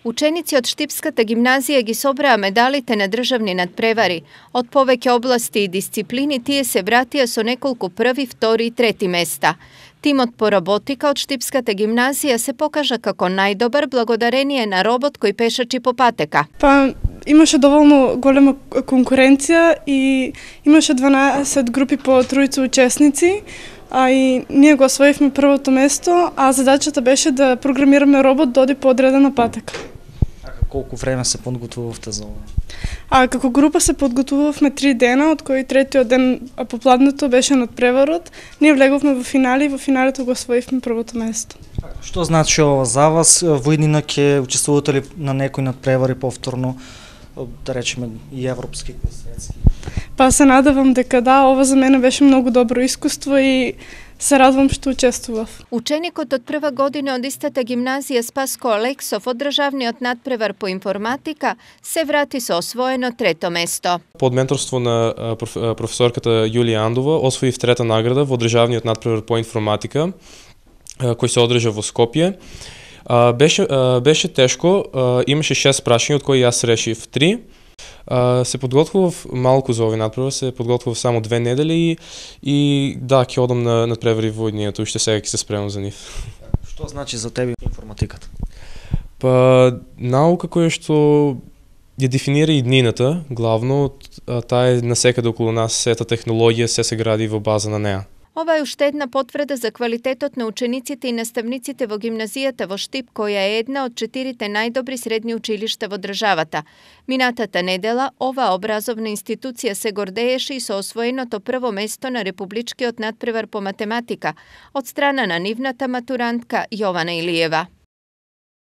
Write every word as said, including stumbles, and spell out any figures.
Ученици од Штипската гимназија ги собраа медалите на државни надпревари. Од повеќе области и дисциплини тие се вратија со неколку први, втори и трети места. Тимот по роботика од Штипската гимназија се покажа како најдобар благодарение на робот кој пешачи по патека. Па имаше доволно голема конкуренција и имаше дванаесет групи по тројца учесници, а и ние го освоивме првото место, а задачата беше да програмираме робот да оди по одредена патека. Колку време се подготвувавте за ова? А како група се подготвувавме три дена, од кои третиот ден попладнето беше надпреварот. Ние влеговме во финали и во финалето го освоивме првото место. Што значи ова за вас? Во иднина ќе учествувате ли на некои надпревари повторно, да речеме и европски и светски? Па се надевам дека да, ова за мене беше многу добро искуство и се радвам што учествував. Ученикот од прва година од истата гимназија Спаско Алексов од државниот надпревар по информатика се врати со освоено трето место. Под менторство на професорката Јулија Андова освоив трета награда во државниот надпревар по информатика кој се одржа во Скопје. Беше беше тешко, имаше шест прашања од кои јас решив три. Се подготвував малку за овој надпревар, се подготвував само две недели и, и да, ќе одам на надпревари во иднината, уште сега ќе се спремам за нив. Што значи за тебе информатиката? Па наука која што ја дефинира иднината, главно, таа е насекаде околу нас, сета технологија, се се гради во база на неа. Ова е уште една потврда за квалитетот на учениците и наставниците во гимназијата во Штип, која е една од четирите најдобри средни училишта во државата. Минатата недела, оваа образовна институција се гордееше и со освоеното прво место на републичкиот надпревар по математика од страна на нивната матурантка Јована Илиева.